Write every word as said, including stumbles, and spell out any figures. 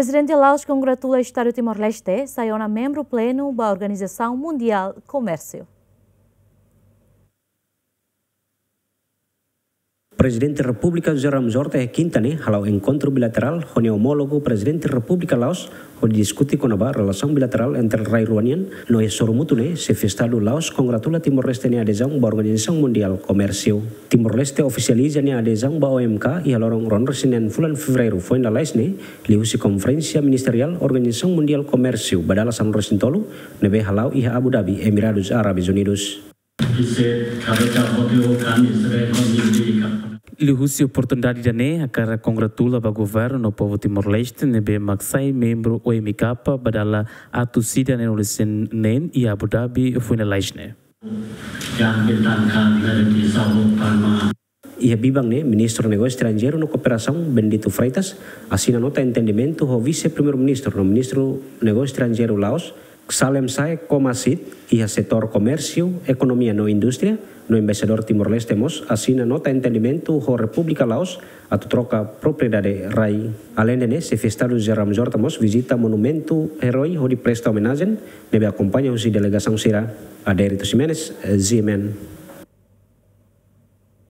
Prezidente Laos kongratula Estadu Timor-Leste sai ona membru plenu ba Organizasaun Mundiál Komérsiu. Prezidente Repúblika José Ramos Horta iha kinta ne'e hala'o enkontru bilaterál ho nia omólogu Prezidente Repúblika Laos hodi diskute kona-ba relasaun bilaterál entre rai rua nian. No iha sorumutu ne'e, Xefe Estadu Laos kongratula Timor-Leste nia adezaun ba Organizasaun Mundiál Komérsiu. Timor-Leste ofisializa nia adezaun ba O M K iha loron ruanulu-resin-neen fulan Fevereiru foin lalais ne'e, liuhusi konferénsia ministeriál Organizasaun Mundiál Komérsiu ba dala sanulu-resin-tolu ne'ebé hala'o iha Abu Dhabi, Emiradus Árabes Unidus. Liuhusi oportunidade ida-ne'e, hakarak kongratula ba governu no povu Timor-Leste ne'ebé mak sai membru O M K ba dala atus ida neenulu-resin-neen iha Abu Dhabi foin lalais ne'e. Iha biban ne'e, Ministru Negósiu Estranjeiru no Kooperasaun, Bendito Freitas, asina nota entendimentu ho Vise-Primeiru-Ministru no Ministru Negósiu Estranjeiru Laos, Ksalem Sae Komasit, iha setór komérsiu, ekonomia no indústria, no Embaixadór Timor-Leste mós asina nota entendimentu ho Repúblika Laos atu troka propriedade rai. Aleinde ne'e, Xefe Estadu José Ramos Horta mós vizita monumentu eroi hodi presta omenajen, ne'ebé akompaña husi delegasaun sira. Adérito Ximenes, G M N.